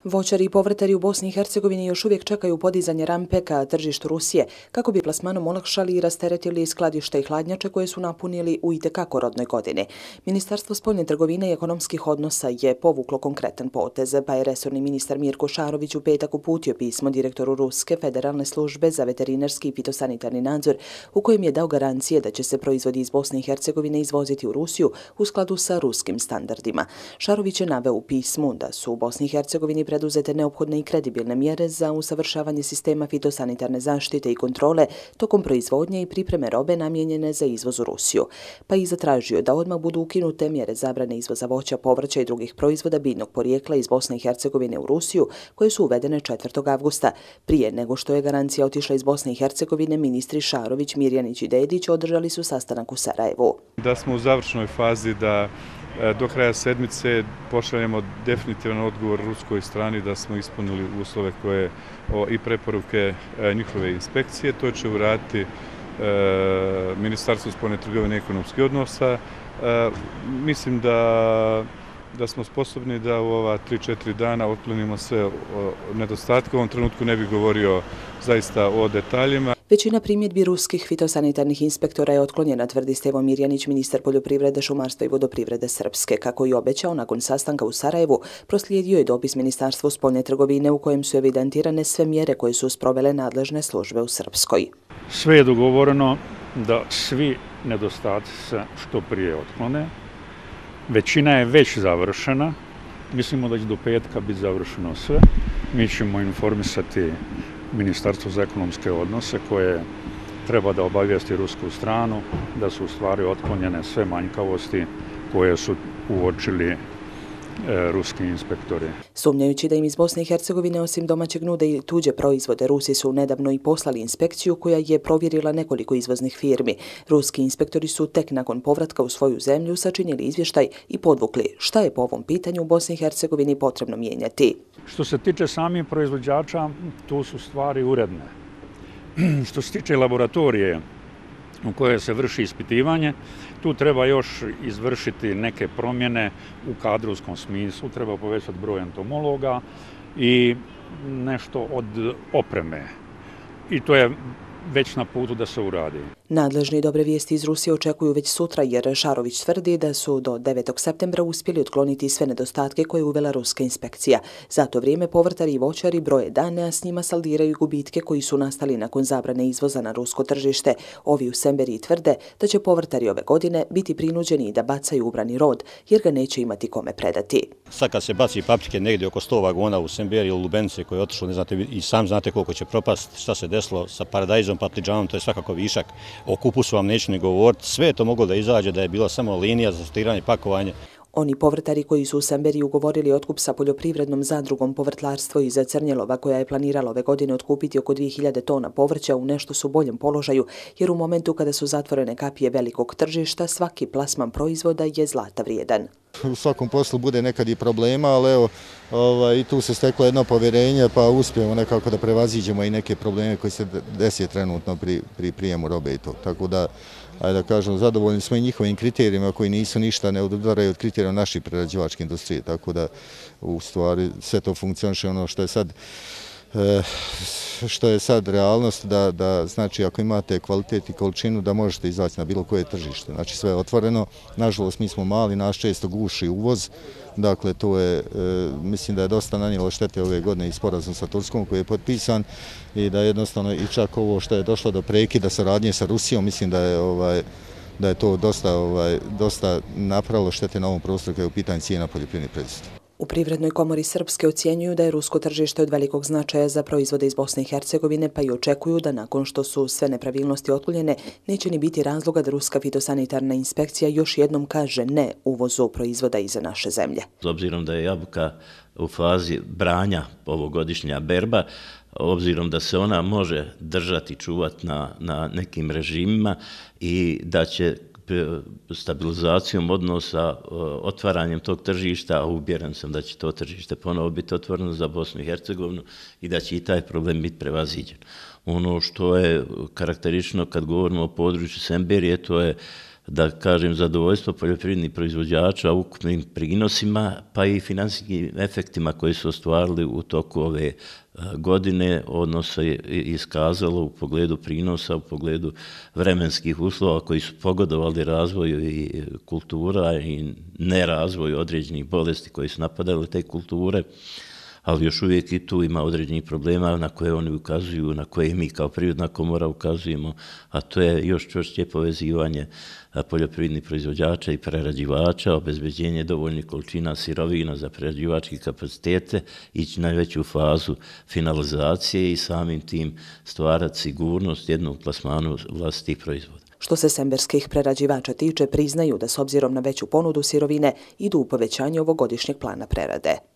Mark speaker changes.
Speaker 1: Voćari i povrtari u Bosni i Hercegovini još uvijek čekaju podizanje rampe ka tržištu Rusije kako bi plasmanom olakšali i rasteretili skladišta i hladnjače koje su napunili u itekako rodnoj godini. Ministarstvo spoljne trgovine i ekonomskih odnosa je povuklo konkretan potez, pa je resorni ministar Mirko Šarović u petak uputio pismo direktoru Ruske federalne službe za veterinarski i fitosanitarni nadzor u kojem je dao garancije da će se proizvodi iz Bosne i Hercegovine izvoziti u Rusiju u skladu sa ruskim standardima. Šarović je naveo u pismu da su u Bosni i Hercegovini preduzete neophodne i kredibilne mjere za usavršavanje sistema fitosanitarne zaštite i kontrole tokom proizvodnje i pripreme robe namijenjene za izvoz u Rusiju, pa i zatražio da odmah budu ukinute mjere zabrane izvoza voća, povrća i drugih proizvoda biljnog porijekla iz Bosne i Hercegovine u Rusiju, koje su uvedene 4. avgusta. Prije nego što je garancija otišla iz Bosne i Hercegovine, ministri Šarović, Mirjanić i Dedić održali su sastanak u Sarajevu.
Speaker 2: Da smo u završnoj fazi da do kraja sedmice pošaljemo definitivan odgovor ruskoj strani da smo ispunili uslove koje i preporuke njihove inspekcije. To će uraditi Ministarstvo spoljne trgovine i ekonomskih odnosa. Mislim da smo sposobni da u ova 3-4 dana otklonimo sve nedostatke. U ovom trenutku ne bih govorio zaista o detaljima.
Speaker 1: Većina primjedbi ruskih fitosanitarnih inspektora je otklonjena, tvrdi Stevo Mirjanić, ministar poljoprivrede, šumarstva i vodoprivrede Srpske. Kako i obećao, nakon sastanka u Sarajevu proslijedio je dopis Ministarstvu spoljne trgovine u kojem su evidentirane sve mjere koje su sprovele nadležne službe u Srpskoj.
Speaker 3: Sve je dogovoreno da svi nedostaci se što prije otklone. Većina je već završena. Mislimo da će do petka biti završeno sve. Mi ćemo informisati Ministarstvo za ekonomske odnose koje treba da obavijesti rusku stranu da su u stvari otklonjene sve manjkavosti koje su uočili ruski inspektori.
Speaker 1: Sumnjajući da im iz Bosne i Hercegovine osim domaćeg nude i tuđe proizvode, Rusi su nedavno i poslali inspekciju koja je provjerila nekoliko izvoznih firmi. Ruski inspektori su tek nakon povratka u svoju zemlju sačinili izvještaj i podvukli šta je po ovom pitanju u Bosni i Hercegovini potrebno mijenjati.
Speaker 3: Što se tiče samih proizvođača, tu su stvari uredne. Što se tiče laboratorije u kojoj se vrši ispitivanje, tu treba još izvršiti neke promjene u kadrovskom smislu, treba povećati broj entomologa i nešto od opreme. I to je već na putu da se uradi.
Speaker 1: Nadležni dobre vijesti iz Rusije očekuju već sutra jer Šarović tvrdi da su do 9. septembra uspjeli otkloniti sve nedostatke koje je uvela ruska inspekcija. Za to vrijeme povrtari i voćari broje dane, a s njima saldiraju gubitke koji su nastali nakon zabrane izvoza na rusko tržište. Ovi u Semberiji tvrde da će povrtari ove godine biti prinuđeni da bacaju ubrani rod jer ga neće imati kome predati.
Speaker 4: Sad kad se baci paprike negdje oko 100 vagona u Semberiji ili Lubenice koje je otišlo, ne znate, i sam znate koliko će propast, šta se desilo sa paradajzom, patliđanom, to je svakako višak. O kupusu vam neću ni govoriti, sve je to moglo da izađe da je bila samo linija za sortiranje i pakovanje.
Speaker 1: Oni povrtari koji su u Semberiji ugovorili otkup sa poljoprivrednom zadrugom Povrtlarstvo iz Crnjelova koja je planirala ove godine otkupiti oko 2000 tona povrća u nešto su boljem položaju jer u momentu kada su zatvorene kapije velikog tržišta svaki plasman proizvoda je zlata vrijedan.
Speaker 5: U svakom poslu bude nekad i problema, ali evo i tu se steklo jedno povjerenje pa uspijemo nekako da prevaziđemo i neke probleme koji se desi trenutno pri prijemu robe i to. Tako da, ajde da kažem, zadovoljni smo i njihovim kriterijima koji nisu ništa, ne odudaraju od kriterija naše prerađivačke industrije. Tako da, u stvari, sve to funkcioniše ono što je sad realnost, da znači ako imate kvalitet i količinu da možete izaći na bilo koje tržište. Znači sve je otvoreno, nažalost mi smo mali, nas često guši uvoz, dakle to je, mislim da je dosta nanijelo štete ove godine i sporazum sa Turskom koji je potpisan i da jednostavno i čak ovo što je došlo do prekida saradnje sa Rusijom, mislim da je to dosta napravilo štete na ovom prostoru kada je u pitanju cijena poljoprivrednih proizvoda.
Speaker 1: U Privrednoj komori Srpske ocjenjuju da je rusko tržište od velikog značaja za proizvode iz Bosne i Hercegovine, pa i očekuju da nakon što su sve nepravilnosti otklonjene, neće ni biti razloga da ruska fitosanitarna inspekcija još jednom kaže ne uvozu proizvoda iz naše zemlje.
Speaker 6: S obzirom da je jabuka u fazi branja ovogodišnja berba, obzirom da se ona može držati, čuvati na nekim režimima i da će stabilizacijom odnosa, otvaranjem tog tržišta, a uvjeren sam da će to tržište ponovo biti otvoreno za Bosnu i Hercegovinu i da će i taj problem biti prevaziđen. Ono što je karakteristično kad govorimo o području Semberije, to je da kažem, zadovoljstvo poljoprivrednih proizvođača ukupnim prinosima, pa i finansijskim efektima koji su ostvarili u toku ove godine, odnosno je iskazalo u pogledu prinosa, u pogledu vremenskih uslova koji su pogodovali razvoju i kultura i nerazvoju određenih bolesti koji su napadali te kulture, ali još uvijek i tu ima određenih problema na koje oni ukazuju, na koje mi kao Privredna komora ukazujemo, a to je još čvršće povezivanje poljoprivrednih proizvođača i prerađivača, obezbeđenje dovoljnih količina sirovina za prerađivačke kapacitete, ići na veću fazu finalizacije i samim tim stvarati sigurnost jednog plasmanu vlastitih proizvoda.
Speaker 1: Što se semberskih prerađivača tiče, priznaju da s obzirom na veću ponudu sirovine idu u povećanje ovogodišnjeg plana prerade.